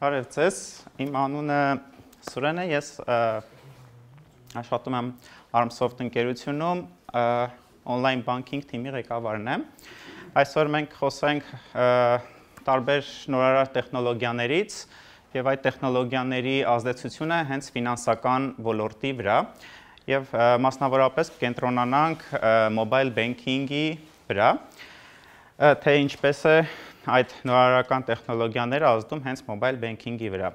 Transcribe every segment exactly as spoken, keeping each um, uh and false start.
Բարև ձեզ, իմ անունը Սուրեն է, ես աշխատում եմ Armsoft ընկերությունում, on-line banking թիմի ղեկավարն եմ։ Այսօր մենք խոսենք տարբեր նորարար տեխնոլոգիաներից և այդ տեխնոլոգիաների ազդեցությունը հենց ֆինանսական ոլորտի վրա և մասնավորապես կենտրոնանանք mobile banking-ի վրա, թե ինչպես է այդ նորարարական տեխնոլոգիաները ազդում հենց mobile banking-ի վրա։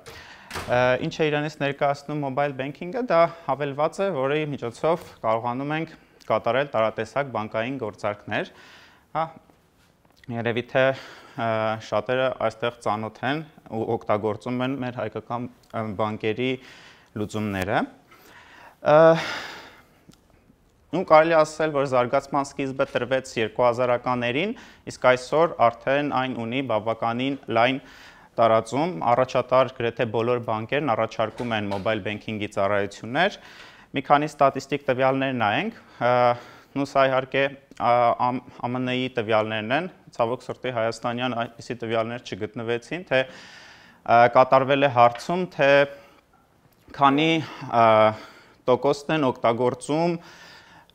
Ինչ է իրենից ներկայացնում mobile banking-ը, դա հավելված է, որի միջոցով կարողանում ենք կատարել տարատեսակ բանկային գործարքներ։ Երևի թե շատերը այստեղ ծանոթ են ու օգտագործում են մեր հայկական բանկերի լուծումները։ Ու կարելի ասել, որ զարգացման սկիզբը տրվեց երկու հազարականներին, իսկ այսօր արդեն այն ունի բավականին լայն տարածում, առաջատար գրեթե բոլոր բանկերն առաջարկում են mobile banking-ի ծառայություններ։ Մի քանի ստատիստիկ տվյալներ նայենք, նույն սա իհարկե A M N-ի տվյալներն են, ցավոք սրտի հայաստանյան այդպիսի տվյալներ չգտնվեցին, թե կատարվել է հարցում, թե քանի տոկոսն են օգտագործում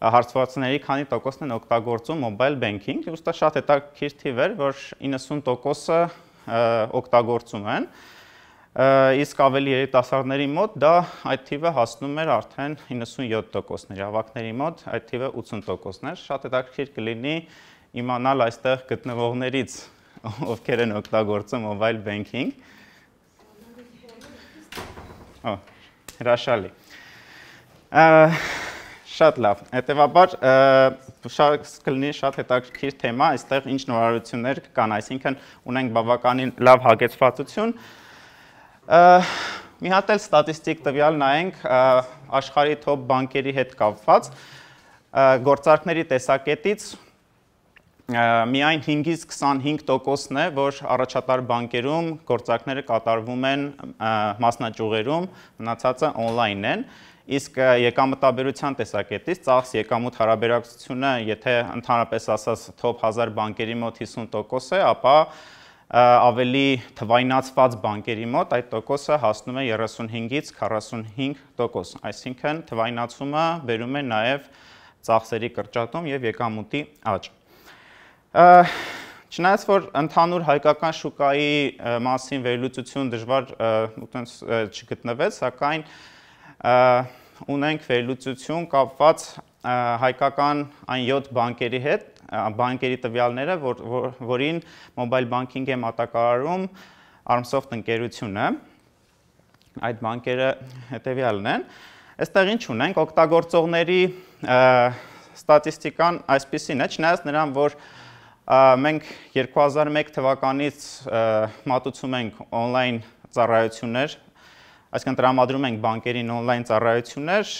հարցվածների քանի տոկոսն են օգտագործում mobile banking, ուստի շատ հետաքրքիր թիվ էր, որ իննսուն տոկոսը օգտագործում են, իսկ ավելի երիտասարդների մոտ դա այդ թիվը հասնում էր արդեն իննսունյոթ տոկոսների, ավագների մոտ այդ թիվը ութսուն տոկոսներ, շատ հետաքրքիր կլինի իմանալ այստեղ գտնվողներից, ովքեր են օգտագործում mobile banking։ Հրաշալի։ Շատ լավ, հետևաբար կլինի շատ հետաքրքիր թեմա, այստեղ ինչ նորարարություններ կան, այսինքն ունենք բավականին լավ հագեցվածություն։ Մի հատ էլ ստատիստիկ տվյալ նայենք աշխարհի top բանկերի հետ կապված, գործարքների տեսակետից միայն հինգից քսանհինգ տոկոսն է, որ առաջատար բանկերում գործարքները կատարվում են մասնաճյուղերում, մնացածը on-line են, իսկ եկամտաբերության տեսակետից ծախս եկամուտ հարաբերակցությունը, եթե ընդհանրապես ասած top հազար բանկերի մոտ հիսուն տոկոս է, ապա ավելի թվայնացված բանկերի մոտ այդ տոկոսը հասնում է երեսունհինգից քառասունհինգ տոկոս, այսինքն թվայնացումը բերում է նաև ծախսերի կրճատում և եկամուտի աճ։ Չնայած որ ընդհանուր հայկական շուկայի մասին վերլուծություն դժվար չգտնվեց, սակայն ունենք վերլուծություն կապված հայկական այն յոթ բանկերի հետ, բանկերի տվյալները, որին mobile banking է մատակարարում Armsoft ընկերությունը, այդ բանկերը հետևյալն են։ Այստեղ ինչ ունենք, օգտագործողների ստատիստիկան այսպիսին է, չնայած նրան, որ մենք երկու հազար մեկ թվականից մատուցում ենք on-line ծառայություններ, այսինքն տրամադրում ենք բանկերին on-line ծառայություններ,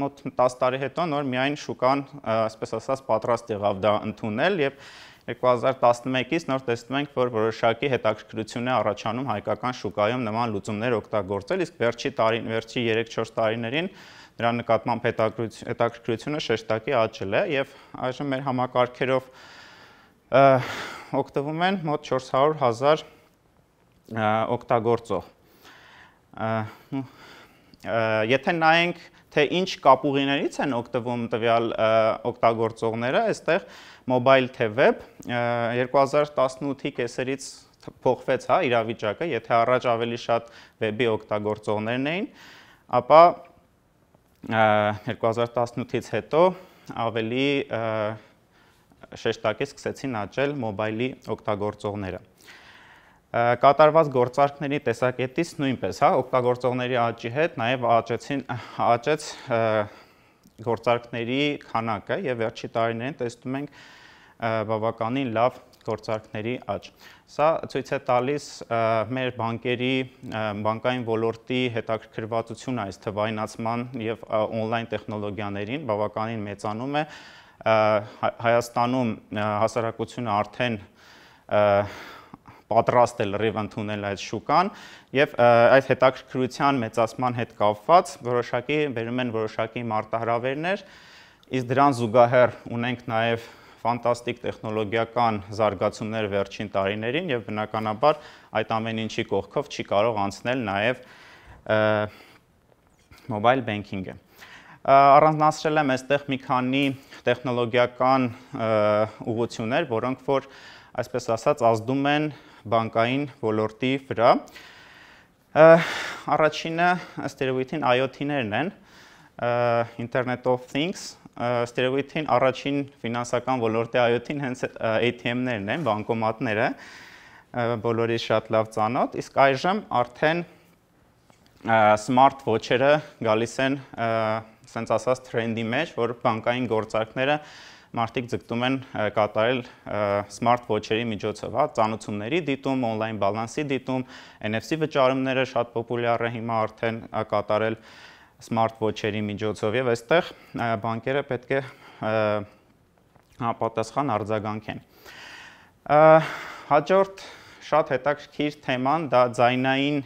մոտ տասը տարի հետո նոր միայն շուկան, այսպես ասած, պատրաստ եղավ դա ընդունել և երկու հազար տասնմեկից նոր տեսնում ենք, որ որոշակի հետաքրքրություն է առաջանում հայկական շուկայում նման լուծումներ օգտագործել, իսկ վերջի տարին, վերջի երեք-չորս տարիներին դրա նկատմամբ հետաքրքրությունը շեշտակի աճել է և այժմ մեր համակարգերով օգտվում են մոտ չորս հարյուր հազար օգտագործող։ Եթե նայենք, թե ինչ կապուղիներից են օգտվում տվյալ օգտագործողները, այստեղ mobile թե web երկու հազար տասնութի կեսերից փոխվեց իրավիճակը, եթե առաջ ավելի շատ web-ի օգտագործողներն էին, ապա երկու հազար տասնութից հետո ավելի շեշտակի սկսեցին աճել mobile-ի օգտագործողները։ Կատարված գործարքների տեսակետից նույնպես, օգտագործողների աճի հետ նաև աճեց գործարքների քանակը և վերջի տարիներին տեսնում ենք բավականին լավ գործարքների աճ։ Սա ցույց է տալիս մեր բանկերի, բանկային ոլորտի հետաքրքրվածությունը այս թվայնացման և on-line տեխնոլոգիաներին բավականին մեծանում է, Հայաստանում հասարակությունը արդեն պատրաստ է լրիվ ընդունել այդ շուկան և այդ հետաքրքրության մեծացման հետ կապված որոշակի բերում են որոշակի մարտահրավերներ, իսկ դրան զուգահեռ ունենք նաև ֆանտաստիկ տեխնոլոգիական զարգացումներ վերջին տարիներին եւ բնականաբար այդ ամեն ինչի կողքով չի կարող անցնել նաեւ mobile banking-ը։ Առանձնացրել եմ այստեղ մի քանի տեխնոլոգիական ուղղություններ, որոնք որ այսպես ասած ազդում են բանկային ոլորտի վրա։ Առաջինը ըստ երևույթին I O T-ներն են, Internet of Things, ըստ երևույթին առաջին ֆինանսական ոլորտի I O T-ն հենց A T M-ներն են, բանկոմատները, բոլորի շատ լավ ծանոթ, իսկ այժմ արդեն smart watch-երը գալիս են սենց ասած թրենդի մեջ, որ բանկային գործարքները մարդիկ ձգտում են կատարել smart watch-երի միջոցով, հա, ծանուցումների դիտում, on-line բալանսի դիտում, N F C վճարումները շատ պոպուլյար է հիմա արդեն կատարել smart watch-երի միջոցով եւ այստեղ բանկերը պետք է համապատասխան արձագանքեն։ Հաջորդ շատ հետաքրքիր թեման դա ձայնային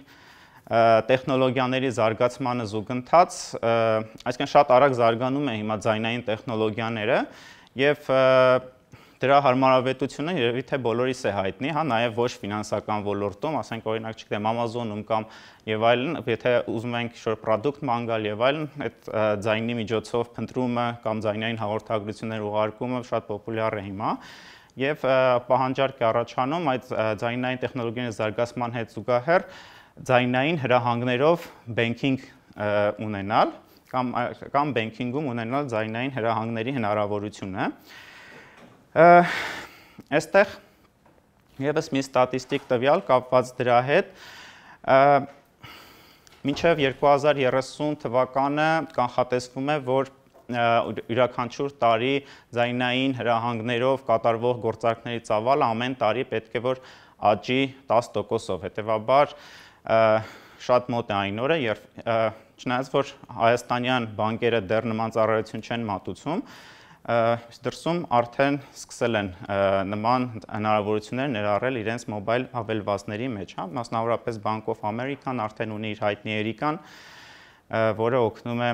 տեխնոլոգիաների զարգացմանը զուգընթաց, այսինքն շատ արագ զարգանում է հիմա ձայնային տեխնոլոգիաները եւ դրա հարմարավետությունը երևի թե բոլորիս է հայտնի, հա, նաեւ ոչ ֆինանսական ոլորտում, ասենք օրինակ չգիտեմ Amazon-ում կամ եւ այլն, եթե ուզում ենք ինչ-որ product մանգալ եւ այլն, այդ ձայնի միջոցով փնտրումը կամ ձայնային հաղորդագրություններ ուղարկումը շատ պոպուլյար է հիմա եւ պահանջարկ է առաջանում այդ ձայնային տեխնոլոգիաների զարգացման հետ զուգահեռ ձայնային հրահանգներով banking ունենալ կամ կամ banking-ում ունենալ ձայնային հրահանգների հնարավորությունը։ Այստեղ եւս մի ստատիստիկ տվյալ կապված դրա հետ, մինչև երկու հազար երեսուն թվականը կանխատեսվում է, որ յուրաքանչյուր տարի ձայնային հրահանգներով կատարվող գործարքների ծավալը ամեն տարի պետք է որ աճի տասը տոկոսով, հետեւաբար շատ մոտ է այն օրը, երբ չնայած որ հայաստանյան բանկերը դեռ նման ծառայություն չեն մատուցում, դրսում արդեն սկսել են նման հնարավորություններ ներառել իրենց մոբայլ հավելվածների մեջ, հա, մասնավորապես Bank of America-ն արդեն ունի իր հայտնի Էրիկան, որը օգնում է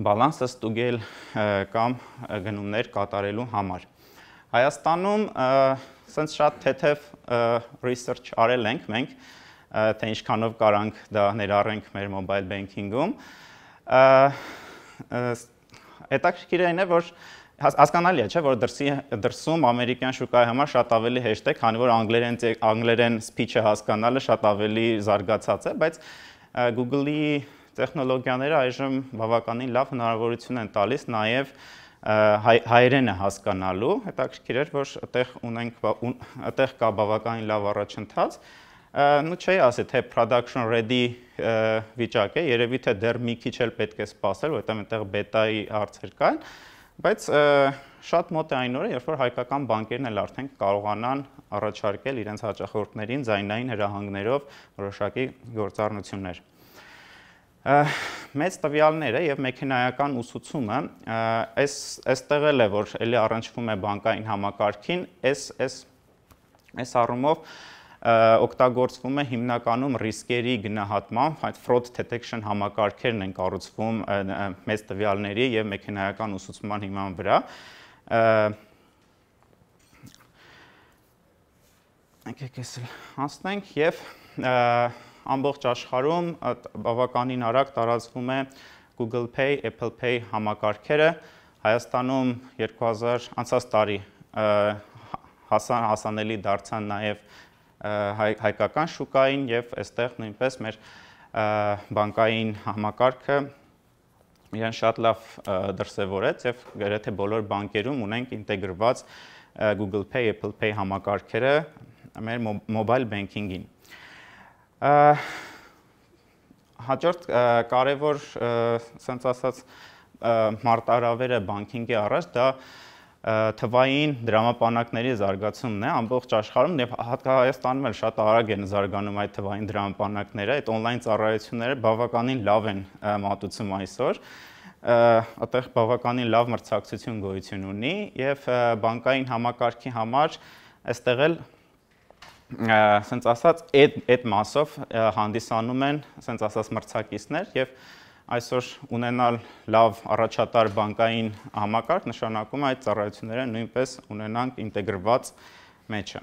բալանսը ստուգել կամ գնումներ կատարելու համար։ Հայաստանում սենց շատ թեթև research արել ենք մենք, թե ինչքանով կարանք դա ներառենք մեր mobile banking-ում։ Հետաքրքիր այն է, որ հասկանալի է, չէ, որ դրսի դրսում ամերիկյան շուկայի համար շատ ավելի հեշտ է, քանի որ անգլերեն անգլերեն speech-ը հասկանալը շատ ավելի զարգացած է, բայց Google-ի տեխնոլոգիաները այժմ բավականին լավ հնարավորություն են տալիս նաև հայերենը հասկանալու, հետաքրքիր էր, որ այդտեղ ունենք այդտեղ կա բավականին լավ առաջընթաց, նու չի ասի, թե production ready վիճակ է, երևի թե դեռ մի քիչ էլ պետք է սպասել, որովհետև այնտեղ բետայի հարցեր կան, բայց շատ մոտ է այն օրը, երբ որ հայկական բանկերն էլ արդեն կարողանան առաջարկել իրենց հաճախորդներին ձայնային հրահանգներով որոշակի գործառնություններ։ Մեծ տվյալները եւ մեքենայական ուսուցումը, այս այստեղ էլ է, որ էլի առնչվում է բանկային համակարգին, այս այս այս առումով օգտագործվում է հիմնականում ռիսկերի գնահատման, այդ fraud detection համակարգերն են կառուցվում մեծ տվյալների եւ մեքենայական ուսուցման հիման վրա։ Եկեք էս հասնենք եւ ամբողջ աշխարհում բավականին արագ տարածվում է Google Pay, Apple Pay համակարգերը, Հայաստանում երկու հազար անցած տարի հասան հասանելի դարձան նաեւ հայկական շուկային եւ այստեղ նույնպես մեր բանկային համակարգը իրեն շատ լավ դրսևորեց եւ գրեթե բոլոր բանկերում ունենք ինտեգրված Google Pay, Apple Pay համակարգերը մեր mobile banking-ին։ Հաջորդ կարևոր ասենց ասած մարտահրավերը բանկինգի առաջ դա թվային դրամապանակների զարգացումն է ամբողջ աշխարհում եւ Հայաստանում էլ շատ արագ են զարգանում այդ թվային դրամապանակները, այդ on-line ծառայությունները բավականին լավ են մատուցում այսօր, այդտեղ բավականին լավ մրցակցություն գոյություն ունի եւ բանկային համակարգի համար այստեղ էլ ասենց ասած այդ այդ մասով հանդիսանում են ասենց ասած մրցակիցներ եւ այսօր ունենալ լավ առաջատար բանկային համակարգ նշանակում է այդ ծառայությունները նույնպես ունենանք ինտեգրված մեջը։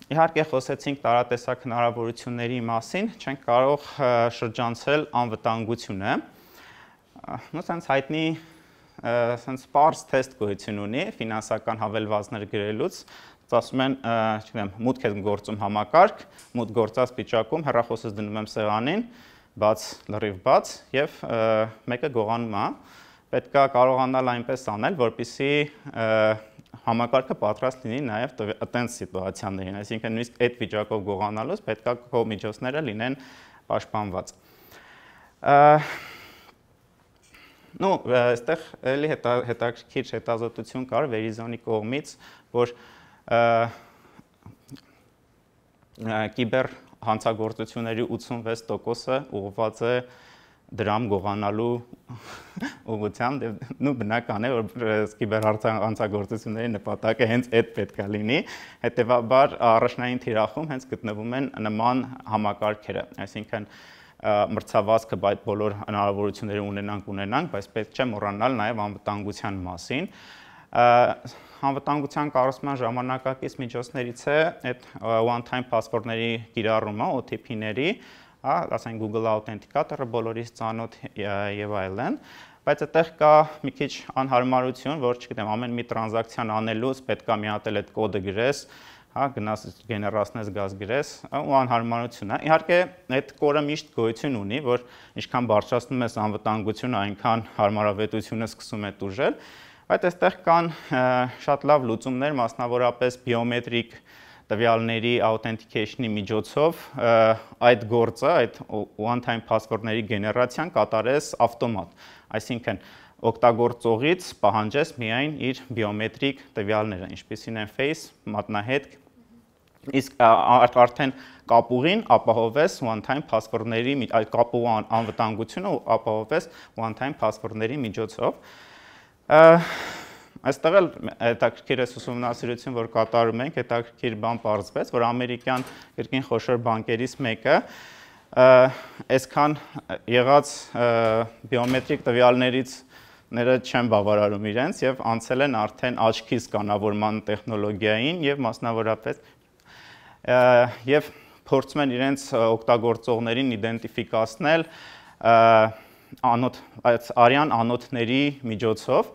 Իհարկե խոսեցինք տարատեսակ հնարավորությունների մասին, չենք կարող շրջանցել անվտանգությունը։ Սենց հայտնի սենց պարզ թեստ գոյություն ունի ֆինանսական հավելվածներ գրելուց, ասում են, չգիտեմ, մուտք է գործում համակարգ, մուտք գործած վիճակում հեռախոսս դնում եմ սեղանին, բաց, լրիվ բաց եւ մեկը գողանում է, պետք է կարողանալ այնպես անել, որպեսզի համակարգը պատրաստ լինի նաև այդպես սիտուացիաներին, այսինքն նույնիսկ այդ վիճակով գողանալուց պետք է քո միջոցները լինեն պաշտպանված։ Ну, այստեղ էլի հետաքրքիր հետազոտություն կար Verizon-ի կողմից, որ կիբեր հանցագործությունների ութսունվեց տոկոսը ուղղված է դրամ գողանալու ուղղությամբ, նու բնական է, որ կիբերհանցագործությունների նպատակը հենց այդ պետք է լինի, հետևաբար առաջնային թիրախում հենց գտնվում են նման համակարգերը, այսինքն մրցավազքը բոլոր հնարավորությունները ունենանք ունենանք, բայց պետք չէ մոռանալ նաև անվտանգության մասին։ Անվտանգության կառուցման ժամանակակից միջոցներից է այդ one-time password-ների կիրառումը, O T P-ների, ասենք Google Authenticator-ը բոլորից ծանոթ եւ այլն, բայց այդտեղ կա մի քիչ անհարմարություն, որ չգիտեմ, ամեն մի տրանզակցիան անելուց պետք է մի հատ էլ այդ կոդը գրես, հա, գնաս գեներացնես, գազ գրես, ու անհարմարություն է։ Իհարկե, այդ կորը միշտ գոյություն ունի, որ ինչքան բարձրացնում ես անվտանգությունը, այնքան հարմարավետությունը սկսում է տուժել, բայց այստեղ կան շատ լավ լուծումներ, մասնավորապես բիոմետրիկ տվյալների authentication-ի միջոցով այդ գործը, այդ one-time password-ների գեներացիան կատարես ավտոմատ, այսինքն օգտագործողից պահանջես միայն իր բիոմետրիկ տվյալները, ինչպիսին են face, մատնահետք, իսկ արդեն կապուղին ապահովես one-time password-ների, կապուղ անվտանգությունը ապահովես one-time password-ների միջոցով։ Այստեղ էլ հետաքրքիր է ուսումնասիրություն, որ կատարում ենք, հետաքրքիր բան պարզվեց, որ ամերիկյան կրկին խոշոր բանկերից մեկը այսքան եղած բիոմետրիկ տվյալներից ները չեն բավարարում իրենց եւ անցել են արդեն աչքի սկանավորման տեխնոլոգիային եւ մասնավորապես եւ փորձում են իրենց օգտագործողներին իդենտիֆիկացնել անոթ արյան անոթների միջոցով։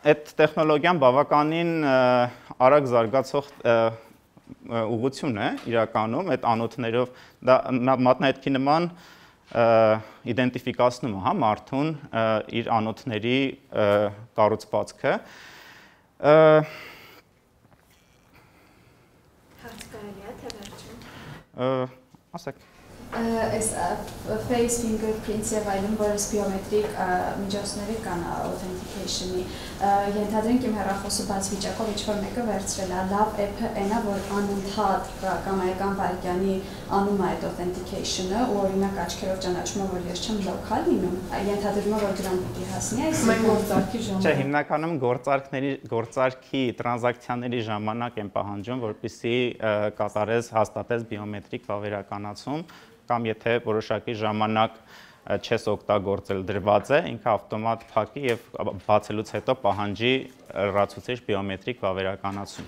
Այդ տեխնոլոգիան բավականին արագ զարգացող ուղղություն է իրականում, այդ անոթներով դա մատնահետքի նման իդենտիֆիկացնում է, հա, մարդուն իր անոթների կառուցվածքը։ Հարց կարելի է թե վերջում։ Ասեք։ Այս face fingerprints եւ այլն, որոնց բիոմետրիկ միջոցները կան authentication-ի, ենթադրենք իմ հեռախոսը բաց վիճակով ինչ-որ մեկը վերցրել է, լավ app-ը այնա, որ անընդհատ կամայական վայրկյանի անում է այդ authentication-ը, ու օրինակ աչքերով ճանաչում է, որ ես չեմ local լինում, ենթադրում է, որ դրան պիտի հասնի, այսինքն գործարքի ժամանակ։ Չէ, հիմնականում գործարքների, գործարքի տրանզակցիաների ժամանակ են պահանջում, որպեսզի կատարես, հաստատես բիոմետրիկ վավերականացում, կամ եթե որոշակի ժամանակ չես օգտագործել դրված է, ինքը ավտոմատ փակի եւ բացելուց հետո պահանջի լրացուցիչ բիոմետրիկ վավերականացում։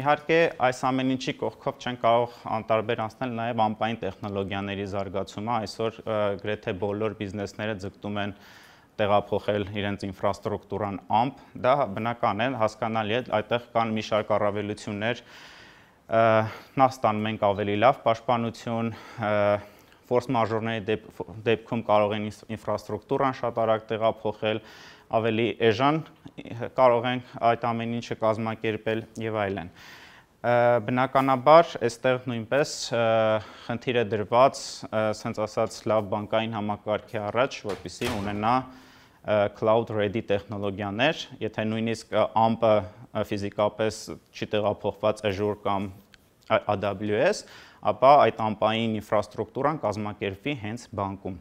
Իհարկե, այս ամեն ինչի կողքով չեն կարող անտարբեր անցնել նաև ամպային տեխնոլոգիաների զարգացումը, այսօր գրեթե բոլոր բիզնեսները ձգտում են տեղափոխել իրենց ինֆրաստրուկտուրան ամպ, դա բնական է, հասկանալի է, այդտեղ կան մի շարք առավելություններ, նախ ստանում ենք ավելի լավ պաշտպանություն, ֆորս մաժորների դեպքում կարող են ինֆրաստրուկտուրան շատ արագ տեղափոխել, ավելի էժան կարող են այդ ամեն ինչը կազմակերպել եւ այլն։ Բնականաբար, այստեղ նույնպես խնդիր է դրված, ասենց ասած, լավ բանկային համակարգի առաջ, որպեսզի ունենա cloud ready տեխնոլոգիաներ, եթե նույնիսկ ամպը ֆիզիկապես չի տեղափոխված Azure կամ A W S, ապա այդ ամպային ինֆրաստրուկտուրան կազմակերպվի հենց բանկում։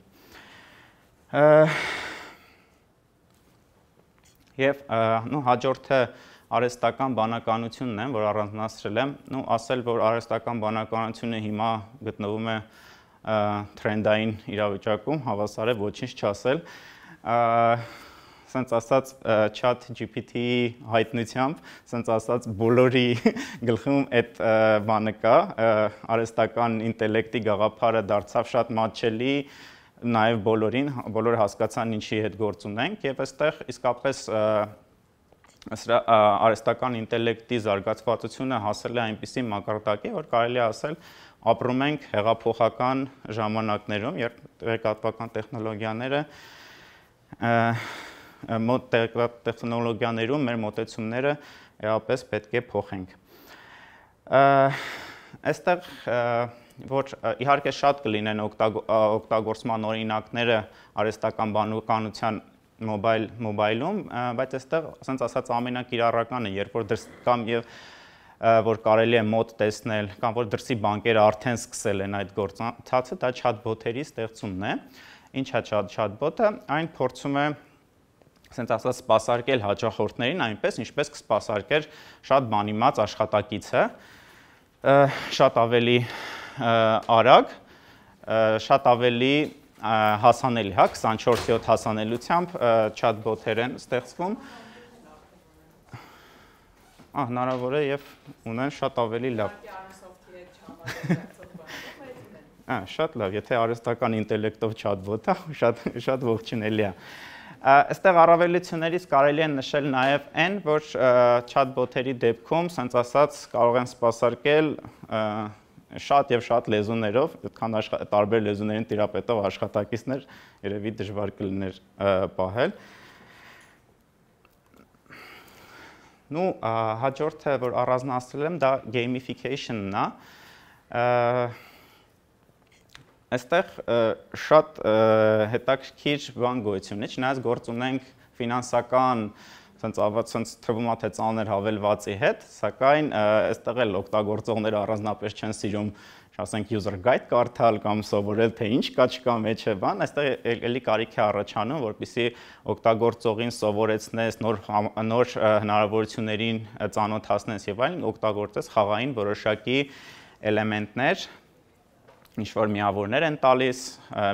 Եվ նո հաջորդը արհեստական բանականությունն եմ, որ առանձնացրել եմ, ու ասել, որ արհեստական բանականությունը հիմա գտնվում է թրենդային իրավիճակում, հավասար է ոչինչ չասել։ Սենց ասած chat G P T-ի հայտնությամբ, սենց ասած բոլորի գլխում այդ բանը կա, արհեստական ինտելեկտի գաղափարը դարձավ շատ մատչելի, նաև բոլորին, բոլորը հասկացան ինչի հետ գործ ունենք, եւ այստեղ իսկապես արհեստական ինտելեկտի զարգացվածությունը հասել է այնպիսի մակարդակի, որ կարելի է ասել ապրում ենք հեղափոխական ժամանակներում, երբ տեղեկատվական տեխնոլոգիաները մոտ տեխնոլոգիաներում մեր մոտեցումները էապես պետք է փոխենք։ Այստեղ որ իհարկե շատ կլինեն օգտագործման օրինակները արհեստական բանականության մոբայլ մոբայլում, բայց այստեղ ասենց ասած ամենակիրառականը, երբ որ դրս կամ եւ որ կարելի է մոտ տեսնել, կամ որ դրսի բանկերը արդեն սկսել են այդ գործընթացը, դա chatbot-երի ստեղծումն է։ Ինչ է chatbot-ը, այն փորձում է ասենց ասած սպասարկել հաճախորդներին այնպես, ինչպես կսպասարկեր շատ բանիմաց աշխատակիցը, շատ ավելի արագ, շատ ավելի հասանելի, հա, քսանչորս յոթ հասանելիությամբ chatbot-եր են ստեղծվում։ Ահ, հնարավոր է եւ ունեն շատ ավելի լավ։ Ահա, շատ լավ, եթե արհեստական ինտելեկտով chatbot-ը, շատ շատ ողջունելի է։ Այստեղ առավելություններից կարելի է նշել նաև այն, որ chatbot-երի դեպքում, ասենց ասած, կարող են սպասարկել շատ եւ շատ լեզուներով, այդքան տարբեր լեզուներին տիրապետող աշխատակիցներ երևի դժվար կլիներ պահել։ Նու հաջորդը, որ առանձնացրել եմ, դա gamification-ն է։ Այստեղ շատ հետաքրքիր բան գոյություն ունի, չնայած գործ ունենք ֆինանսական, ցենց թվում է թե ծանր հավելվածի հետ, սակայն այստեղ էլ օգտագործողները առանձնապես չեն սիրում, ասենք user guide կարդալ կամ սովորել թե ինչ կա չկա մեջը բան, այստեղ էլի կարիք է առաջանում, որպեսզի օգտագործողին սովորեցնես, նոր նոր հնարավորություններին ծանոթացնես եւ այլն, օգտագործես խաղային որոշակի էլեմենտներ, ինչ-որ միավորներ են տալիս,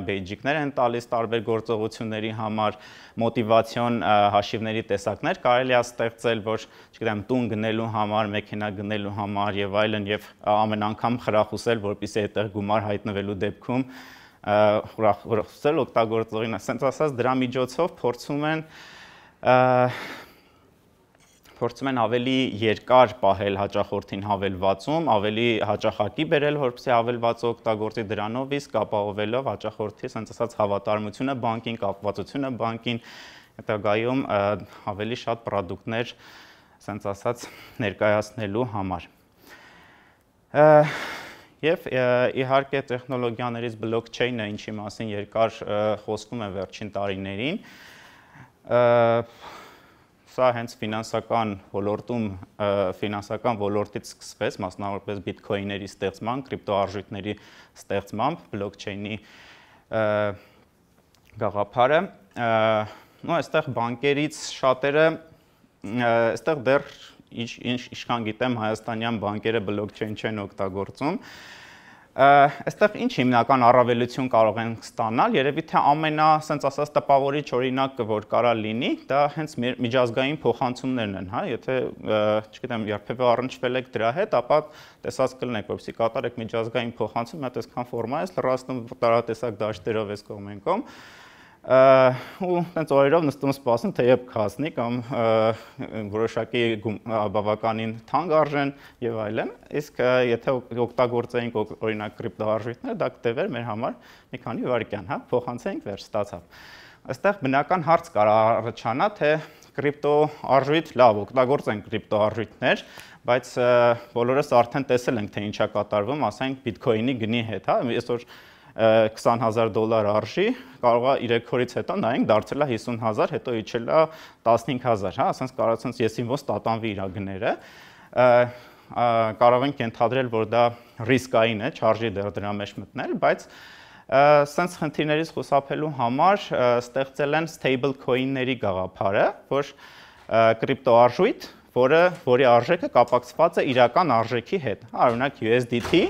բեյջիկներ են տալիս տարբեր գործողությունների համար, մոտիվացիոն հաշիվների տեսակներ կարելի է ստեղծել, որ, չգիտեմ, տուն գնելու համար, մեքենա գնելու համար եւ այլն եւ ամեն անգամ խրախուսել, որպեսզի այդտեղ գումար հայտնվելու դեպքում խրախուսել օգտագործողին, ասենց ասած դրա միջոցով փորձում են փորձում են ավելի երկար պահել հաճախորդին հավելվածում, ավելի հաճախակի բերել, որպեսզի հավելվածը օգտագործի դրանով, իսկ ապահովելով հաճախորդի, ասենց ասած, հավատարմությունը բանկին, կապվածությունը բանկին, հետագայում ավելի շատ պրոդուկտներ, ասենց ասած, ներկայացնելու համար։ Եվ իհարկե տեխնոլոգիաներից blockchain-ը, ինչի մասին երկար խոսվում է վերջին տարիներին, սա հենց ֆինանսական ոլորտում, ֆինանսական ոլորտից սկսվեց, մասնավորապես բիթքոյնների ստեղծման, կրիպտոարժույթների ստեղծմամբ, բլոկչեյնի գաղափարը, ու այստեղ բանկերից շատերը, այստեղ դեռ ինչքան գիտեմ հայաստանյան բանկերը բլոկչեյն չեն օգտագործում, այստեղ ինչ հիմնական առավելություն կարող են ստանալ, երևի թե ամենա, ասենց ասած, տպավորիչ օրինակը, որ կարա լինի, դա հենց միջազգային փոխանցումներն են, հա, եթե, չգիտեմ, երբևէ առնչվել եք դրա հետ, ապա տեսած կլինեք, որպեսզի կատարեք միջազգային փոխանցում, մի հատ այսքան ֆորմա ես լրացնում տարատեսակ դաշտերով ես կողմ են կողմ, ու տենց օրերով նստում սպասում, թե երբ կհասնի կամ որոշակի բավականին թանկ արժեն եւ այլն, իսկ եթե օգտագործեինք օրինակ կրիպտոարժույթները, դա կտևեր մեր համար մի քանի վայրկյան, հա, փոխանցեինք, վերջ ստացավ։ Այստեղ բնական հարց կար առաջանա, թե կրիպտոարժույթ, լավ, օգտագործենք կրիպտոարժույթներ, բայց բոլորս արդեն տեսել ենք, թե ինչ է կատարվում, ասենք բիթքոյնի գնի հետ, հա, այսօր քսան հազար դոլար արժի, կարող է երեք օրից հետո նայենք դարձել է հիսուն հազար, հետո իջել է տասնհինգ հազար, հա, ասենց կարող ասենց եսին ոնց տատանվի իր գները, կարող ենք ենթադրել, որ դա ռիսկային է, չարժի դեռ դրա մեջ մտնել, բայց սենց խնդիրներից խուսափելու համար ստեղծել են stable coin-ների գաղափարը, որ կրիպտոարժույթ, որը որի արժեքը կապակցված է իրական արժեքի հետ։ Օրինակ U S D T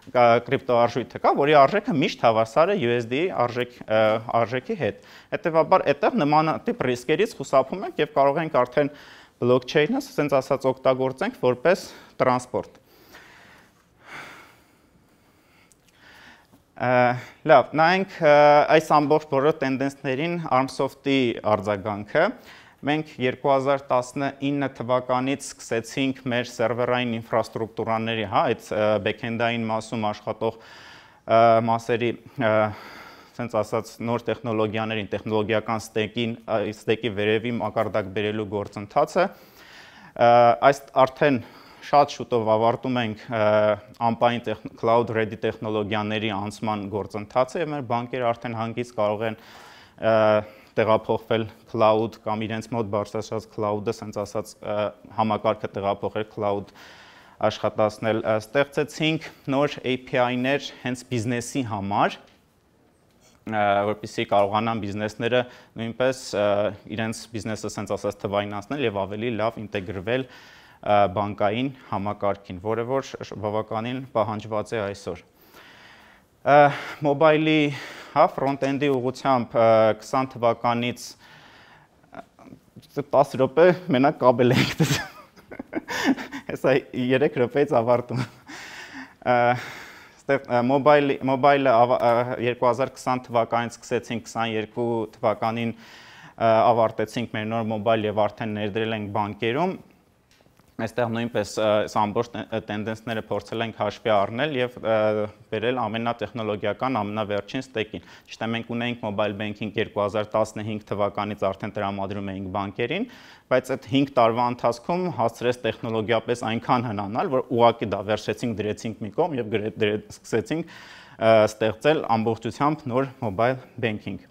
կրիպտոարժույթը կա, որի արժեքը միշտ հավասար է U S D արժեք, արժեքի հետ։ Հետևաբար այդտեղ նմանատիպ ռիսկերից խուսափում ենք եւ կարող ենք արդեն blockchain-ը, ասենց ասած, օգտագործենք որպես տրանսպորտ։ Լավ, նայենք այս ամբողջ բոլոր տենդենսներին Armsoft-ի արձագանքը։ Մենք երկու հազար տասնինը թվականից սկսեցինք մեր սերվերային ինֆրաստրուկտուրաների, հա, այդ backend-ային մասում աշխատող մասերի, ասենց ասած, նոր տեխնոլոգիաներին, տեխնոլոգիական ստեյքին, ստեյքի վերևի մակարդակ բերելու գործընթացը։ Այս արդեն շատ շուտով ավարտում ենք ամպային cloud ready տեխնոլոգիաների անցման գործընթացը եւ մեր բանկերը արդեն հանգիստ կարող են տեղափոխվել cloud կամ իրենց մոտ բարձրացած cloud-ը, ասենց ասած, համակարգը տեղափոխել cloud աշխատացնել, ստեղծեցինք նոր A P I-ներ հենց բիզնեսի համար, որպեսզի կարողանան բիզնեսները նույնպես իրենց բիզնեսը, ասենց ասած, թվայնացնել եւ ավելի լավ ինտեգրվել բանկային համակարգին, որը որ բավականին պահանջված է այսօր։ Մոբայլի, հա, ֆրոնտ-էնդի ուղղությամբ քսան թվականից տասը րոպե մենակ կաբել ենք դրել։ Հեսա երեք րոպեից ավարտում։ Մոբայլը երկու հազար քսան թվականից սկսեցինք, քսաներկու թվականին ավարտեցինք մեր նոր մոբայլ եւ արդեն ներդրել ենք բանկերում։ Այստեղ նույնպես ամբողջ տենդենսները փորձել ենք հաշվի առնել եւ բերել ամենատեխնոլոգիական, ամենավերջին ստեյքին։ Ճիշտ է, մենք ունենք mobile banking երկու հազար տասնհինգ թվականից արդեն տրամադրում էինք բանկերին, բայց այդ հինգ տարվա ընթացքում հասցրեց տեխնոլոգիապես այնքան հնանալ, որ ուղղակի դա վերցրեցինք, դրեցինք մի կողմ եւ սկսեցինք ստեղծել ամբողջությամբ նոր mobile banking։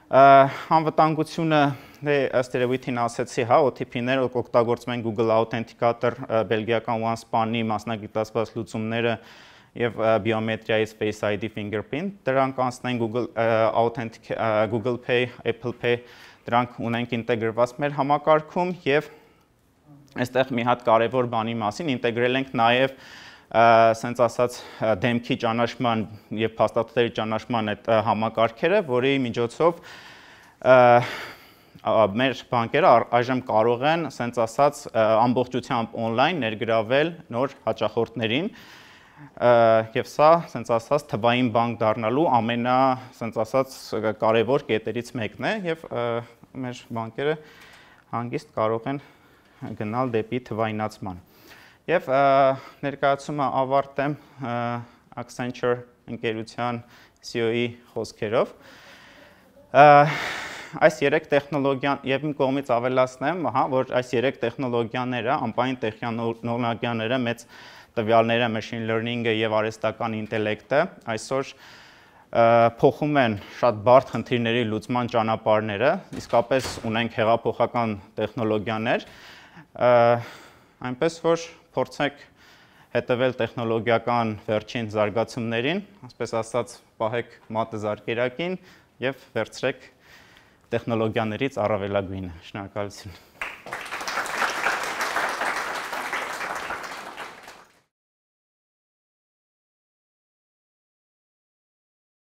Անվտանգությունը ըստ երևույթին ասեցի, հա, O T P-ներ օգտագործում են Google Authenticator, բելգիական OneSpan-ի մասնագիտացված լուծումները եւ բիոմետրիայի Face I D Fingerprint, դրանք անցնեն Google Authentic, Google Pay, Apple Pay, դրանք ունենք ինտեգրված մեր համակարգում եւ այստեղ մի հատ կարեւոր բանի մասին ինտեգրել ենք նաեւ ասենց ասած դեմքի ճանաչման եւ փաստաթղթերի ճանաչման այդ համակարգերը, որի միջոցով մեր բանկերը այժմ կարող են, ասենց ասած, ամբողջությամբ on-line ներգրավել նոր հաճախորդներին եւ սա, ասենց ասած, թվային բանկ դառնալու ամենա, ասենց ասած, կարեւոր կետերից մեկն է եւ մեր բանկերը հանգիստ կարող են գնալ դեպի թվայնացման։ Եվ ներկայացումը ավարտեմ Accenture ընկերության C E O-ի խոսքերով։ Այս երեք տեխնոլոգիան, եւ իմ կողմից ավելացնեմ, հա, որ այս երեք տեխնոլոգիաները, ամպային տեխնոլոգիաները, մեծ տվյալները, machine learning-ը եւ արհեստական ինտելեկտը այսօր փոխում են շատ բարդ խնդիրների լուծման ճանապարհները, իսկապես ունենք հեղափոխական տեխնոլոգիաներ, այնպես որ փորձենք հետևել տեխնոլոգիական վերջին զարգացումներին, ասպես ասած, պահեք մատը զարկերակին եւ վերցրեք տեխնոլոգիաներից առավելագույնը։ Շնորհակալություն։